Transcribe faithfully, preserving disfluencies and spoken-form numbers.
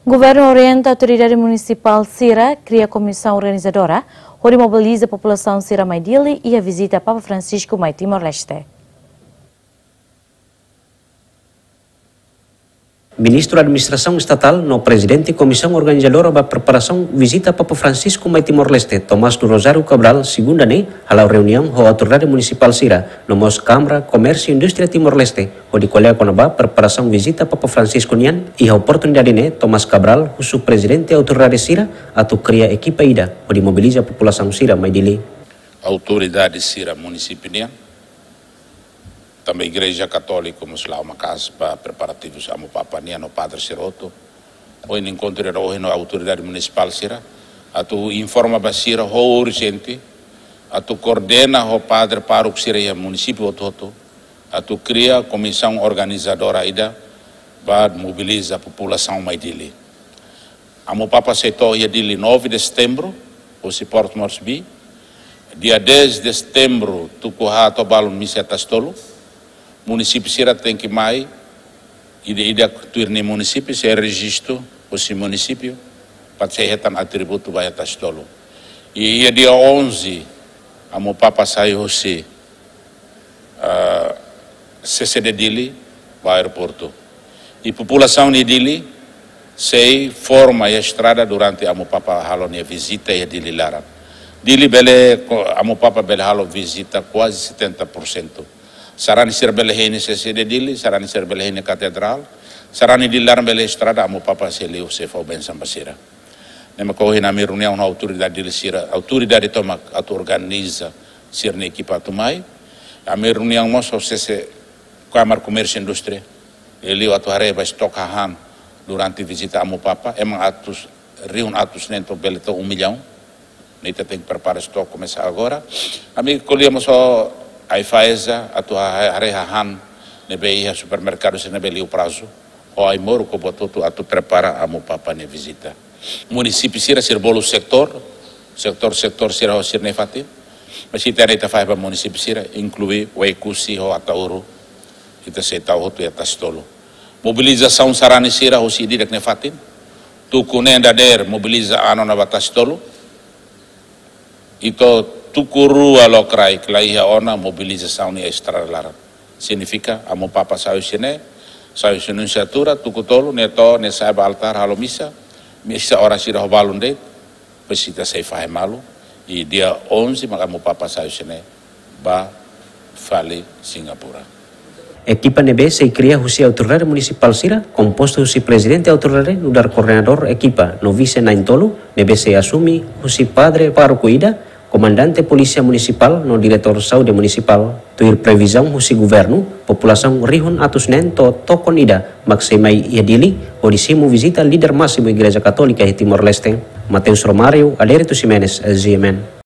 Governu orienta autoridade munisipál sira kria komisaun organizadora hodi mobiliza populasaun sira mai Dili iha vizita Papa Francisco mai Timor-Leste. Ministru Administrasaun Estatál no Prezidente Komisaun Organizadora ba preparasaun vizita Papa Francisco mai Timor-Leste, Tomás do Rosário Cabral, segunda ne'e, hala'o reuniaun ho autoridade munisipál sira, no mós Kámara Komérsiu Indústria Timor-Leste, hodi ko'alia kona-ba preparasaun vizita Papa Francisco nian. Iha oportunidade ne'e, Tomás Cabral husu prezidente autoridade sira atu kria ekipa ida hodi mobiliza populasaun sira mai Dili. Autoridade sira munisípiu nian, tanba Igreja Katólika mós la'o maka'as ba preparativus Amu Papa nian no padre sira hotu. Ohin enkontru ida ohin ho autoridade munisipál sira, atu informa ba sira ho urjente, atu koordena ho padre pároku sira iha munisípiu hotu-hotu, atu kria komisaun organizadora ida ba mobiliza populasaun mai Dili. Amu Papa sei to'o iha Dili nove de setembro, husi Port Moresby. Dia dez de setembro, tuku haat to'o balun misa iha Tasitolu. Munisípiu sira tenke mai, ida-idak tuir nia munisípiu, sei rejistu husi munisípiu, para sei hetan atributu ba iha Tasitolu. I iha dia onze, Amu Papa sai husi, ah, C C D Dili ba aeroportu. I populasaun iha Dili sei forma iha estrada durante Amu Papa halo nia vizita iha Dili laran. Dili bele ko-, Amu Papa bele halo vizita kuaze setenta por cento. Sarani sira bele hein iha C C D Dili, sarani sira bele hein iha Katedrál, sarani Dili laran bele estrada, Amu Papa sei liu sei fó bensaun ba sira. Ne'e mak ohin ami reuniaun ho autoridade Dili sira, autoridade tomak atu organiza sira-nia ekipa atu mai. Ami reuniaun mós ho C C, Kámara Komérsiu Indústria, liuliu atu haree ba estok hahán durante vizita Amu Papa, ema atus, rihun atus neen to'o bele to'o um milhão. Ne'e ita tenke prepara estok komesa agora. Ami ko'alia mós ho AIFAESA atu ha-, haree hahán ne'ebé iha supermerkadu sira ne'ebé liu prazu. Ho Aimoruk ho buat hotu atu prepara Amu Papa nia vizita. Munisípiu sira sira bolu setór, setór, setór sira ho sira-nia fatin. Mas ita ne'e ita fahe ba munisípiu sira, inklui Oekusi ho Ataúru. Ita sei tau hotu iha Tasitolu. Mobilizasaun sarani sira husi ida-idak nia fatin. Tuku neen dadeer mobiliza an ona ba Tasitolu. I to'o tuku rua lokraik la iha ona, mobilizasaun iha estrada laran. Signifika Amu Papa sai husi ne'e, sai husi Nunsiatura, tuku tolu, nia to'o, nia sa'e ba altár halo misa, misa oras ida ho balun de'it, depois ita sei fahe malu, i dia onze mak Amu Papa sai husi ne'e ba fali Singapura. Ekipa ne'ebé sei kria husi autoridade munisipál sira, kompostu husi prezidente autoridade nu'udar koordenadór ekipa no vise na'in-tolu, ne'ebé sei asume husi padre pároku ida, komandante polísia munisipál no diretór saúde munisipál. Tuir previzaun husi governu, populasaun rihun atus neen to'o tokon ida mak sei mai iha Dili, hodi simu vizita líder másimu Igreja Katólika iha Timor-Leste. Mateus Romário, Adérito Ximenes, G M N.